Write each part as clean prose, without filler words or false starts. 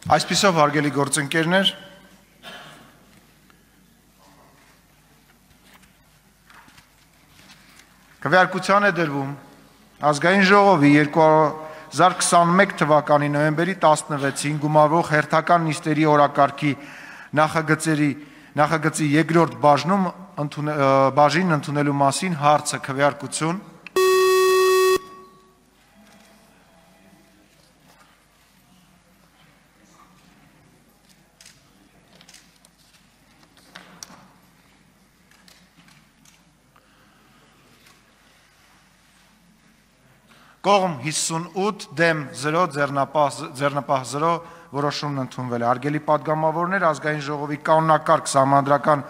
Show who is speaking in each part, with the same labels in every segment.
Speaker 1: Այսպիսով հարգելի գործընկերներ, քվեարկության է դրվում Ազգային ժողովի 2021 թվականի նոյեմբերի 16-ին գումարվող հերթական նիստերի օրակարգի նախագծի երկրորդ բաժին ընդունելու մասին հարցը քվեարկություն Կողմ 58 դեմ 0 ձեռնապահ 0 որոշումն ընդունվել է։ Հարգելի պատգամավորներ, Ազգային ժողովի կանոնակարգ սահմանադրական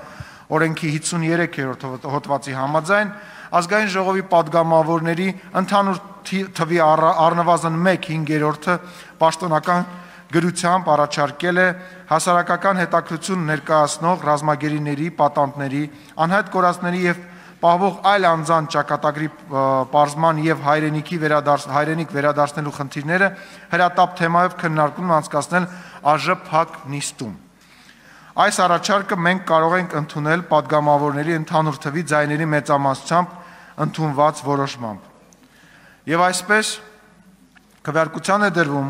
Speaker 1: օրենքի 53-րդ հոդվածի համաձայն Ազգային ժողովի պատգամավորների ընդհանուր թվի առնվազն 1/5-ը պաշտոնական գրությամբ առաջարկել է հասարակական հետաքրքրություն ներկայացնող ռազմագերիների, պատանդների, անհայտ կորածների եւ պահվող այլ անձանց ճակատագրի պարզման եւ հայրենիք վերադարձնելու խնդիրները հրատապ թեմայով քննարկում անցկացնել ԱԺ նիստում։ Այս առաջարկը մենք կարող ենք ընդունել պատգամավորների ընդհանուր թվի ձայների մեծամասնությամբ ընդունված որոշմամբ։ Եվ այսպես քվեարկության է դրվում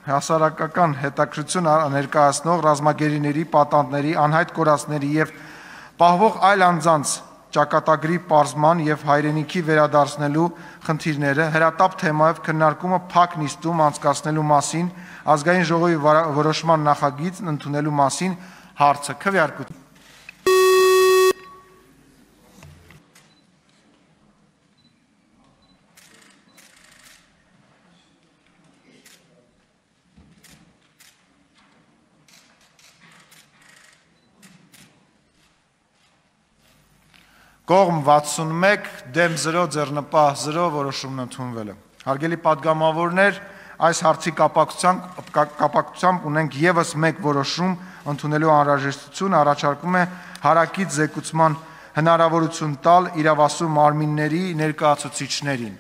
Speaker 1: հասարակական հետաքրքրություն ներկայացնող ռազմագերիների, պատանդների, անհայտ կորածների եւ պահվող այլ անձանց ճակատագրի պարզման եւ հայրենիքի վերադարձնելու խնդիրները հրատապ թեմայով քննարկումը փակ նիստում անցկացնելու մասին Ազգային ժողովի որոշման նախագիծն ընդունելու մասին հարցը քվեարկություն Կողմ 61 դեմ 0 ձեռնապահ 0 որոշումն ընդունվել է։ Հարգելի պատգամավորներ, այս հարցի կապակցությամբ ունենք եւս մեկ որոշում ընդունելու անհրաժեշտություն առաջարկում է հարակից զեկուցման հնարավորություն տալ իրավասու մարմինների ներկայացուցիչներին։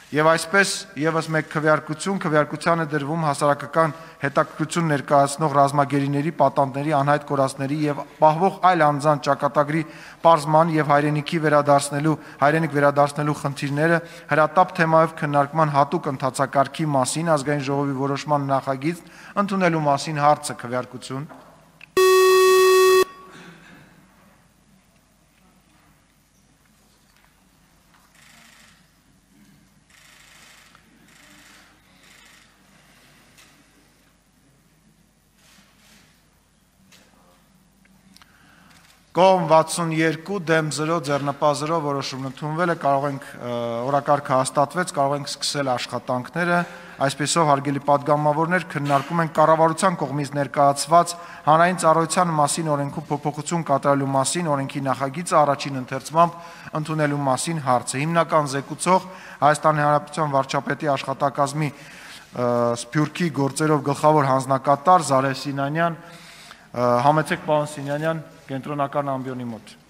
Speaker 1: Եվ այսպես եւս մեկ քվեարկության է դրվում հասարակական հետաքրքրություն ներկայացնող ռազմագերիների, պատանդների, անհայտ կորածների եւ պահվող այլ անձանց ճակատագրի պարզման եւ հայրենիք վերադարձնելու խնդիրները հրատապ թեմայով քննարկման հատուկ ընթացակարգի մասին Ազգային ժողովի որոշման նախագիծ ընդունելու մասին հարցը քվեարկություն Կողմ 62 դեմ 0 ձեռնապահ 0 որոշումն ընդունվել է, կարող ենք օրակարգը հաստատվեց, կարող ենք սկսել աշխատանքները, այսպեսով հարգելի պատգամավորներ քննարկում ենք կառավարության կողմից ներկայացված հանրային ծառայության մասին օրենքում փոփոխություն կատարելու մասին օրենքի նախագիծը առաջին ընթերցմամբ ընդունելու մասին հարցը։ Հիմնական զեկուցող Հայաստանի Հանրապետության վարչապետի աշխատակազմի Սփյուռքի գործերով գլխավոր հանձնակատար Զարեհ Սինանյան, համեցեք պարոն Սինանյան կենտրոնական ամբիոնի մոտ։